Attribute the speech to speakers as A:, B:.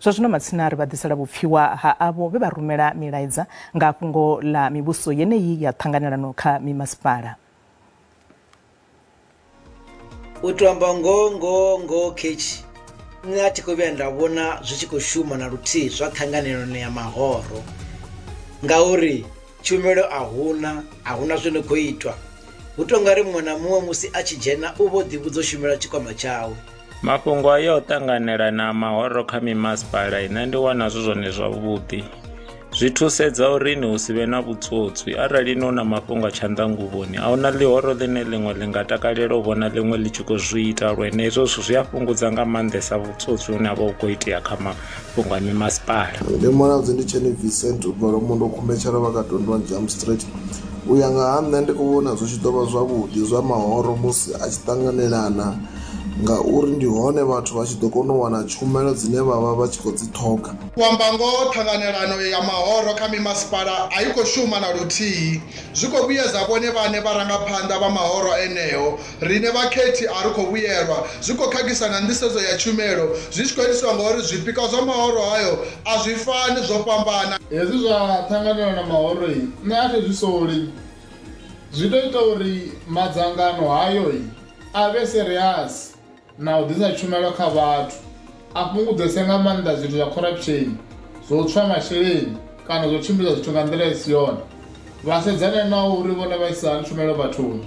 A: Zwa zwino matsina ri vha ḓisela vhupfiwa ha avho vhe vha rumela milaedza nga fhungo ḽa mivhuso yeneyi ya ṱhanganelano kha mimasipala.
B: U to amba ngoho khetshi nṋe a thi khou vhuya nda vhona zwi tshi khou shuma na luthihi zwa ṱhanganelano ya mahoro, ngauri tshumelo a huna zwino khou itwa. Hu to nga ri muṅwe na muṅwe musi a tshi dzhena u vho ḓivhudza u shumela tshikwama tshawe.
C: Mafhungo ayo o ṱanganelana mahoro kha mimasipala nṋe ndi wana zwi zwone zwavhuḓi. Zwi thusedza uri ni hu si vhe na vhutswotswi arali ni na mafhungo a tshanḓanguvhoni a huna ḽihoro ḽine ḽiṅwe ḽi nga takalela u vhona ḽiṅwe ḽi tshi khou zwi ita lwene hezwo zwithu zwi a fhungudza nga maanḓesa vhutswotswi hune ha vha hu khou itea kha mafhungo a mimasipala.
D: Ndi Mulaudzi ndi Tsheni Vincent u bva Lwamondo Khumbetshela vha ka 21 Jump Street. U ya nga ha nṋe ndi khou vhona zwi tshi ḓo vha zwavhuḓi zwa mahoro musi a tshi ṱanganelana, ngauri ndi hone vhathu vha tshi ḓo kona u wana tshumelo dzine vha vha vha tshi khou dzi ṱhoga.
E: U amba ngoho, ṱhanganelano ya mahoro kha mimasipala a i khou shuma na luthihi. Zwi khou vhuyedza vhone vhaṋe vharangaphanḓa vha mahoro eneo. Riṋe vhakhethi a ri khou vhuyelwa. Zwi khou khakhisa na nḓisedzo ya tshumelo, zwi tshi khou itiswa ngauri zwipikwa zwa mahoro hayo a zwi fani, zwo fhambana.
F: Hezwi zwa ṱhanganelano ya mahoro nṋe a thi zwi soli. Zwi ḓo ita uri madzangano hayo a vhe serious na u ḓisa tshumelo kha vhathu, a fhungudzese nga maanḓa zwithu zwa corruption, zwo tswa masheleni kana zwo tshimbidza zwithu nga nḓila i si yone. Vha sedzane na uri vhone vha isa hani tshumelo vhathuni.